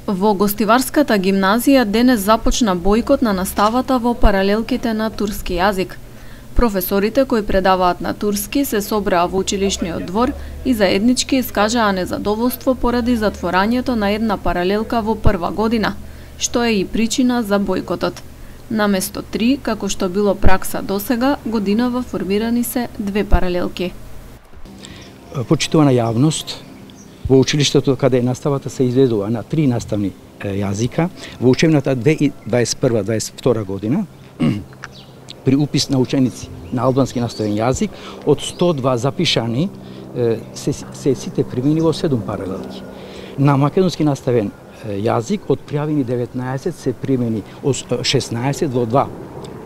Во Гостиварската гимназија денес започна бојкот на наставата во паралелките на турски јазик. Професорите кои предаваат на турски се собраа во училишниот двор и заеднички искажаа незадоволство поради затворањето на една паралелка во прва година, што е и причина за бојкотот. Наместо 3, како што било пракса досега, годинава формирани се 2 паралелки. Почитувана јавност, во училиштето каде наставата се изведува на 3 наставни јазика, во учебната 2021-2022 година, при упис на ученици на албански наставен јазик, од 102 запишани се сите примени во 7 паралелки. На македонски наставен јазик од пријавени 19 се примени од 16 во 2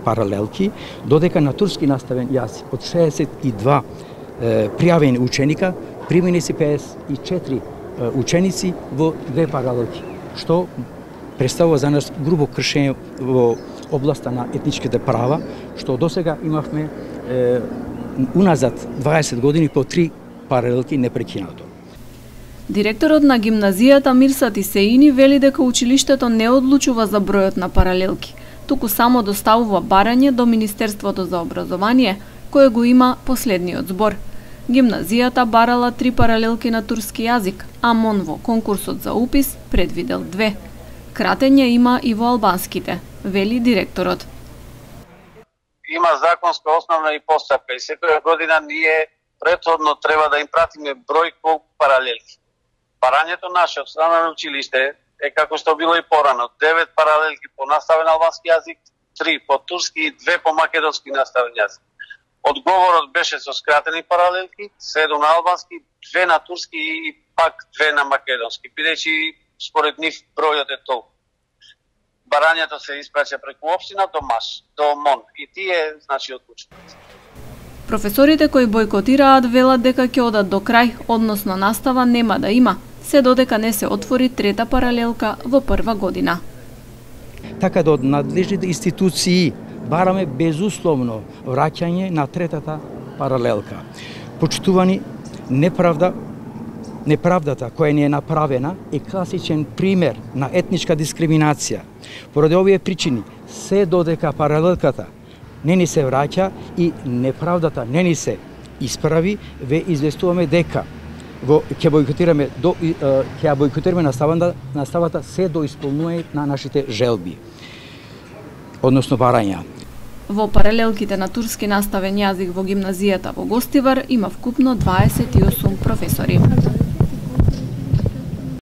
паралелки, додека на турски наставен јазик од 62 пријавени ученика примени се 54 ученици во 2 паралелки, што представува за нас грубо кршење во областа на етничките права, што досега имавме уназад 20 години по 3 паралелки непрекинато. Директорот на гимназијата Мирсат Исеини вели дека училиштето не одлучува за бројот на паралелки, туку само доставува барање до Министерството за образование, кое го има последниот збор. Гимназијата барала 3 паралелки на турски јазик, а МОН во конкурсот за упис предвидел 2. Кратење има и во албанските, вели директорот. Има законска основа и постапка и секоја година ние претходно треба да им пратиме број колку паралелки. Барањето наше од страна на училиште е како што било и порано, 9 паралелки по наставен албански јазик, 3 по турски и 2 по македонски наставен јазик. Одговорот беше со скратени паралелки, 7 на албански, 2 на турски и пак 2 на македонски, бидејќи според нив бројот е толку. Барањето се испраќа преку општина до МАШ, до МОН и тие значи одлучуваат. Професорите кои бојкотираат велат дека ќе одат до крај, односно настава нема да има, се додека не се отвори 3-та паралелка во прва година. Така да од надлежните институции бараме безусловно враќање на 3-та паралелка. Почитувани, неправдата која ни е направена е класичен пример на етничка дискриминација. Поради овие причини, се додека паралелката не ни се враќа и неправдата не ни се исправи, ве известуваме дека ќе бојкотираме наставата се до исполнување на нашите желби, односно барања. Во паралелките на турски наставен јазик во гимназијата во Гостивар има вкупно 28 професори.